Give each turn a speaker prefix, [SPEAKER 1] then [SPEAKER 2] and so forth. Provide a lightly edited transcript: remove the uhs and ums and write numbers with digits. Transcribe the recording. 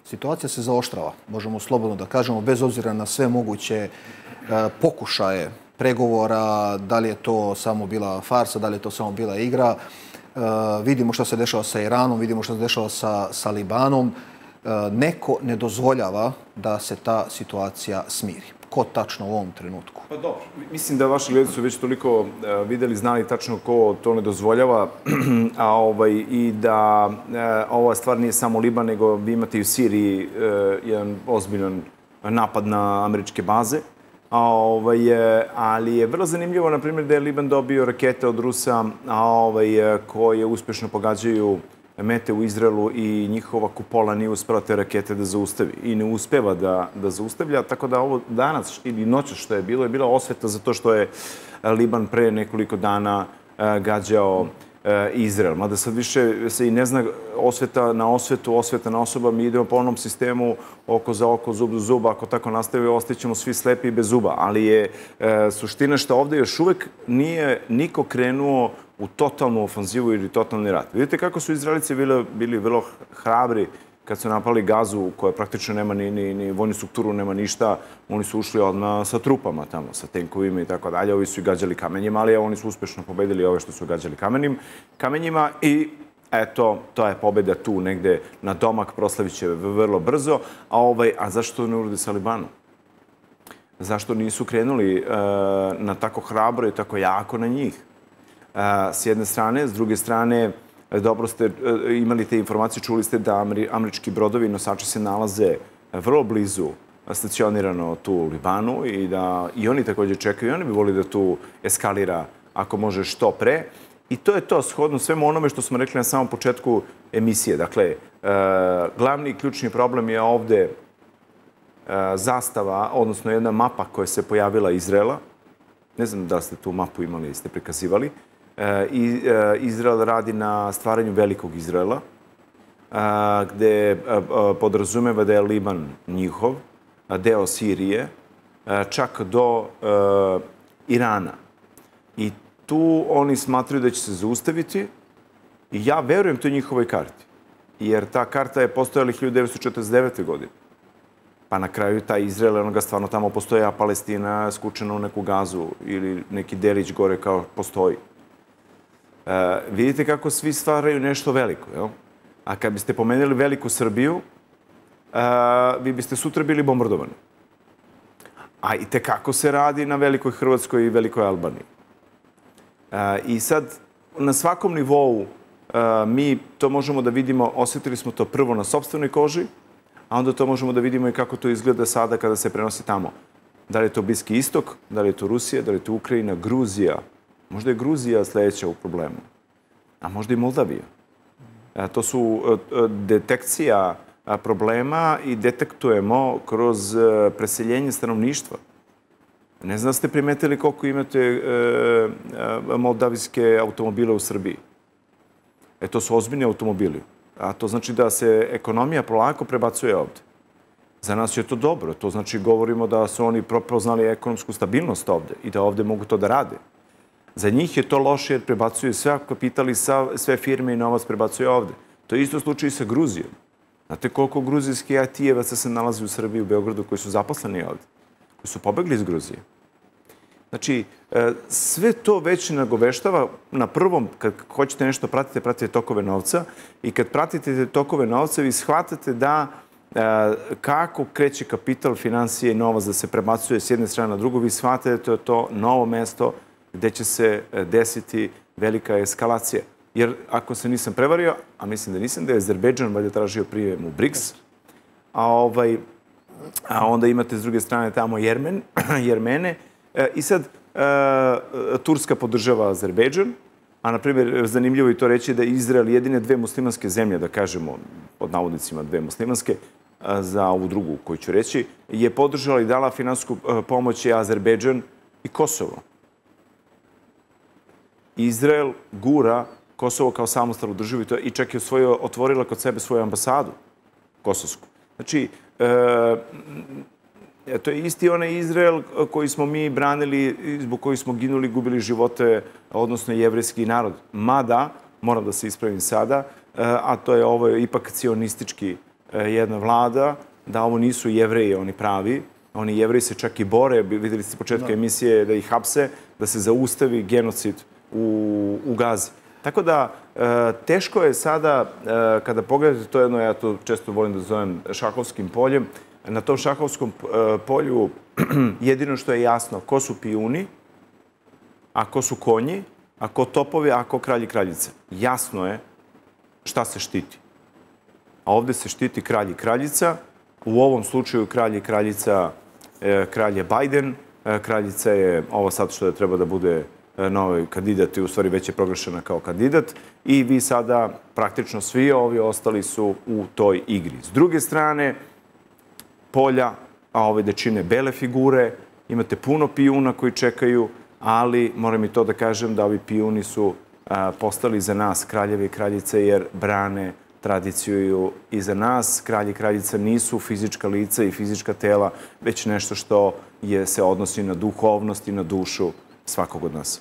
[SPEAKER 1] situacija se zaoštrava, možemo slobodno da kažemo, bez obzira na sve moguće pokušaje pregovora, da li je to samo bila farsa, da li je to samo bila igra. Vidimo što se dešava sa Iranom, vidimo što se dešava sa Libanom. Neko ne dozvoljava da se ta situacija smiri. Ko tačno u ovom trenutku?
[SPEAKER 2] Pa dobro, mislim da vaši gledalci su već toliko videli, znali tačno ko to ne dozvoljava i da ova stvar nije samo Liban, nego vi imate i u Siriji jedan ozbiljan napad na američke baze. Ali je vrlo zanimljivo, na primjer, da je Liban dobio rakete od Rusa koje uspješno pogađaju mete u Izraelu i njihova kupola nije uspela te rakete da zaustavi i ne uspeva da zaustavlja, tako da ovo danas ili noćas što je bila osveta za to što je Liban pre nekoliko dana gađao Izrael. Mada sad više se i ne zna osveta na osvetu, osveta na osoba. Mi idemo po onom sistemu oko za oko, zub za zub. Ako tako nastavi, ostaćemo svi slepi i bez zuba. Ali je suština što ovde još uvek nije niko krenuo u totalnu ofanzivu ili totalni rat. Vidite kako su Izraelici bili vrlo hrabri kad su napali Gazu, koja praktično nema ni vojnu strukturu, nema ništa. Oni su ušli odmah sa trupama tamo, sa tenkovima i tako dalje. Ovi su i gađali kamenjima, ali oni su uspešno pobedili ove što su gađali kamenjima i eto, to je pobeda tu negde na domak, proslavit će vrlo brzo. A zašto ne urade sa Libanom? Zašto nisu krenuli na tako hrabro i tako jako na njih? S jedne strane, s druge strane, dobro ste imali te informacije, čuli ste da američki brodovi i nosači se nalaze vrlo blizu stacionirano tu u Libanu i da i oni također čekaju i oni bi volili da tu eskalira ako može što pre. I to je to, shodno svemu onome što smo rekli na samom početku emisije. Dakle, glavni i ključni problem je ovde zastava, odnosno jedna mapa koja se pojavila Izraela. Ne znam da ste tu mapu imali, ste prikazivali. Izrael radi na stvaranju velikog Izraela, gde podrazumeva da je Liban njihov, deo Sirije, čak do Irana. I tu oni smatraju da će se zaustaviti i ja verujem toj njihovoj karti. Jer ta karta je postojala 1949. godine. Pa na kraju taj Izrael, onoga stvarno tamo postoje, a Palestina skučena u neku Gazu ili neki delić gore kao postoji. Vidite kako svi stvaraju nešto veliko, jel? A kad biste pomenuli veliku Srbiju, vi biste sutra bili bombardovani. A i tekako se radi na velikoj Hrvatskoj i velikoj Albaniji. I sad, na svakom nivou mi to možemo da vidimo, osjetili smo to prvo na sopstvenoj koži, a onda to možemo da vidimo i kako to izgleda sada kada se prenosi tamo. Da li je to Bliski istok, da li je to Rusija, da li je to Ukrajina, Gruzija. Možda je Gruzija sledeća u problemu, a možda i Moldavija. To su detekcija problema i detektujemo kroz preseljenje stanovništva. Ne znam da ste primetili koliko imate moldavijske automobile u Srbiji. To su ozbiljni automobili. A to znači da se ekonomija polako prebacuje ovde. Za nas je to dobro. To znači govorimo da su oni prepoznali ekonomsku stabilnost ovde i da ovde mogu to da rade. Za njih je to loše jer prebacuju sve kapital i sve firme i novac prebacuju ovde. To je isto slučaj i sa Gruzijom. Znate koliko gruzijskih IT-evaca se nalazi u Srbiji, u Beogradu, koji su zaposleni ovde, koji su pobegli iz Gruzije. Znači, sve to već nagoveštava na prvom, kad hoćete nešto pratite tokove novca i kad pratite te tokove novca, vi shvatate da kako kreće kapital, finansije i novac da se prebacuje s jedne strane na drugu, vi shvatate da je to novo mesto gde će se desiti velika eskalacija. Jer ako se nisam prevario, a mislim da nisam, da je Azerbejdžan valjda tražio prijem u BRICS, a onda imate s druge strane tamo Jermene. I sad Turska podržava Azerbejdžan, a na primjer zanimljivo je to reći da je Izrael jedine dve muslimanske zemlje, da kažemo pod navodnicima dve muslimanske, za ovu drugu koju ću reći, je podržala i dala finansijsku pomoć i Azerbejdžan i Kosovo. Izrael gura Kosovo kao samostalnu državu i čak je otvorila kod sebe svoju ambasadu kosovsku. Znači, to je isti onaj Izrael koji smo mi branili, zbog koji smo ginuli, gubili živote, odnosno jevrejski narod. Mada, moram da se ispravim sada, a to je ovo ipak cionistički jedna vlada da ovo nisu Jevreji, oni pravi. Oni Jevreji se čak i bore, videli ste s početka emisije, da ih hapse, da se zaustavi genocid u Gazi. Tako da, teško je sada, kada pogledate to jedno, ja to često volim da zovem šahovskim poljem, na tom šahovskom polju jedino što je jasno, ko su pijuni, a ko su konji, a ko topovi, a ko kralj i kraljica. Jasno je šta se štiti. A ovde se štiti kralj i kraljica. U ovom slučaju kralj i kraljica, kralj je Biden, kraljica je ovo sad što je treba da bude novi kandidat i u stvari već je proglašena kao kandidat i vi sada praktično svi ovi ostali su u toj igri. S druge strane, polja, a ove da čine bele figure, imate puno pijuna koji čekaju, ali moram i to da kažem da ovi pijuni su postali za nas kraljevi i kraljice jer brane tradiciju i za nas. Kralj i kraljica nisu fizička lica i fizička tela, već nešto što se odnosi na duhovnost i na dušu svakog od nas.